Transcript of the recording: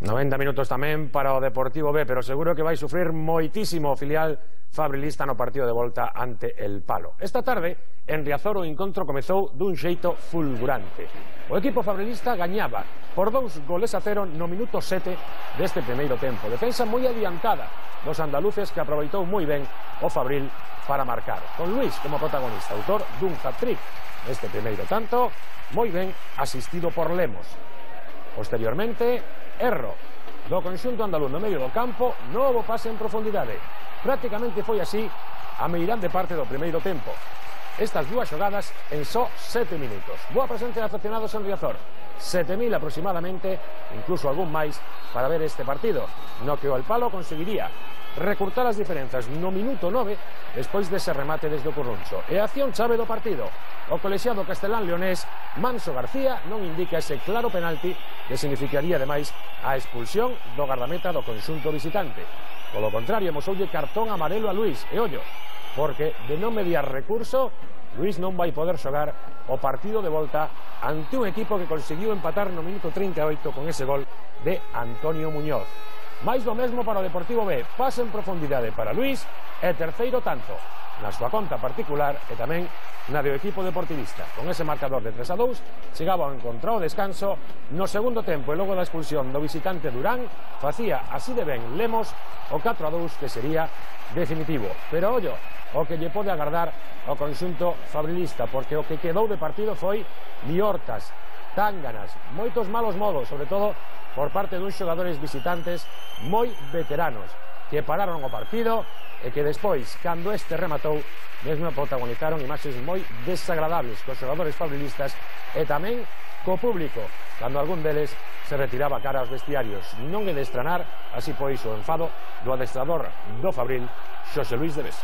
90 minutos tamén para o Deportivo B, pero seguro que vai sufrir moitísimo o filial fabrilista no partido de volta ante el Palo. Esta tarde, en Riazor, o encontro comezou dun xeito fulgurante. O equipo fabrilista gañaba por 2-0 no minuto 7 deste primeiro tempo. Defensa moi adiantada dos andaluces que aproveitou moi ben o Fabril para marcar. Con Luis como protagonista, autor dun hat-trick neste primeiro tanto, moi ben asistido por Lemos. Posteriormente, erro do conxunto andaluz no medio do campo, novo pase en profundidade. Prácticamente foi así a meirande parte do primeiro tempo. Estas dúas xogadas en só 7 minutos. Boa presencia de aficionados en Riazor, 7.000 aproximadamente, incluso algún máis, para ver este partido, no que o El Palo conseguiría recurtar as diferenzas no minuto 9 despois dese remate desde o Curruncho. E a acción chave do partido, o colexiado castelán-leonés Manso García non indica ese claro penalti que significaría ademais a expulsión do gardameta do conxunto visitante. Polo contrario, mosoulle cartón amarelo a Luis, e ollo, porque de non mediar recurso, Luis non vai poder xogar o partido de volta ante un equipo que conseguiu empatar no minuto 38 con ese gol de Antonio Muñoz. Mais do mesmo para o Deportivo B, pase en profundidade para Luis e terceiro tanto na súa conta particular e tamén na do equipo deportivista. Con ese marcador de 3-2 chegaba ao encontro o descanso no segundo tempo e logo da expulsión do visitante Durán facía así de ben Lemos o 4-2 que sería definitivo. Pero ollo, o que lle pode agardar ao conxunto fabrilista, porque o que quedou de partido foi liortas, tánganas, moitos malos modos, sobre todo por parte duns xogadores visitantes moi veteranos que pararon o partido e que despois, cando este rematou, mesmo protagonizaron imaxes moi desagradables cos xogadores fabrilistas e tamén co público, cando algún deles se retiraba cara aos vestiarios. Non é de estranar, así pois o enfado do adestrador do Fabril, Xosé Luis de Besa.